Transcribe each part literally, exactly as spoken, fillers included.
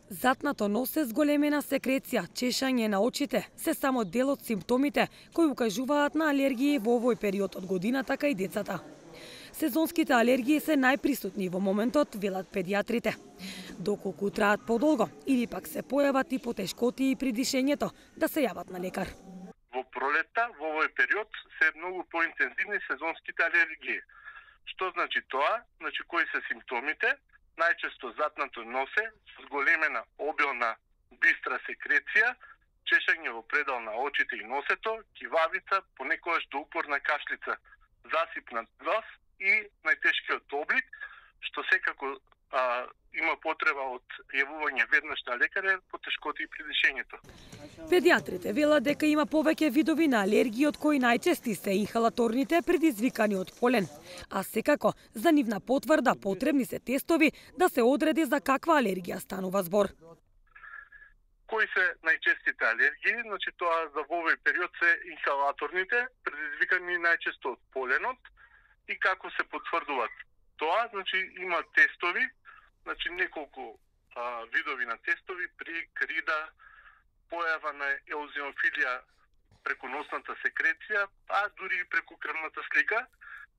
Затнато носе, зголемена секреција, чешање на очите се само дел од симптомите кои укажуваат на алергии во овој период од годината кај децата. Сезонските алергии се најприсутни во моментот, велат педиатрите. Доколку траат подолго или пак се појават и потешкотии при дишењето, да се јават на лекар. Во пролетта, во овој период, се многу поинтензивни сезонските алергии. Што значи тоа? Значи кои се симптомите? Најчесто затнато носе, зголемена обилна бистра секреција, чешање во предел на очите и носето, кивавица, понекогаш до упорна кашлица, засипнат глас и најтешкиот облик, што секако а, има потреба од јавување веднаш на лекар е потешкоти при дишењето. Педиатрите велат дека има повеќе видови на алергии, од кои најчести се инхалаторните предизвикани од полен. А секако, за нивна потврда потребни се тестови да се одреди за каква алергија станува збор. Кои се најчестите алергии? Значи тоа за овој период се инхалаторните, предизвикани најчесто од поленот, и како се потврдуваат тоа, значи има тестови, значи неколку а, видови на тестови при крида, појава на еозинофилија преку носната секреција, а дури и преку крвната слика,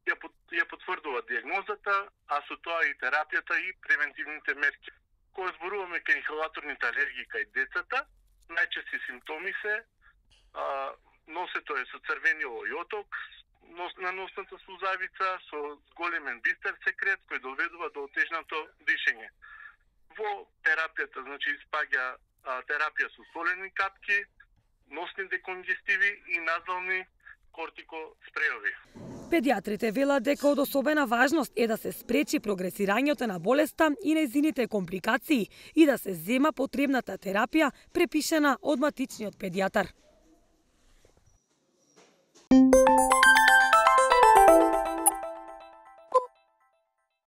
ја, ја потврдува диагнозата, а со тоа и терапијата и превентивните мерки. Кога зборуваме кај инхалаторните алергии кај децата, најчести симптоми се а, носето е со црвенило и оток, нос, на носната сузавица со зголемен бистер секрет кој доведува до отежнато дишење. Во терапијата, значи спаѓа а, терапија со солени капки, носни деконгестиви и назални кортикоспреови. Педиатрите велат дека од особена важност е да се спречи прогресирањето на болеста и нејзините компликации и да се зема потребната терапија препишена од матичниот педијатар.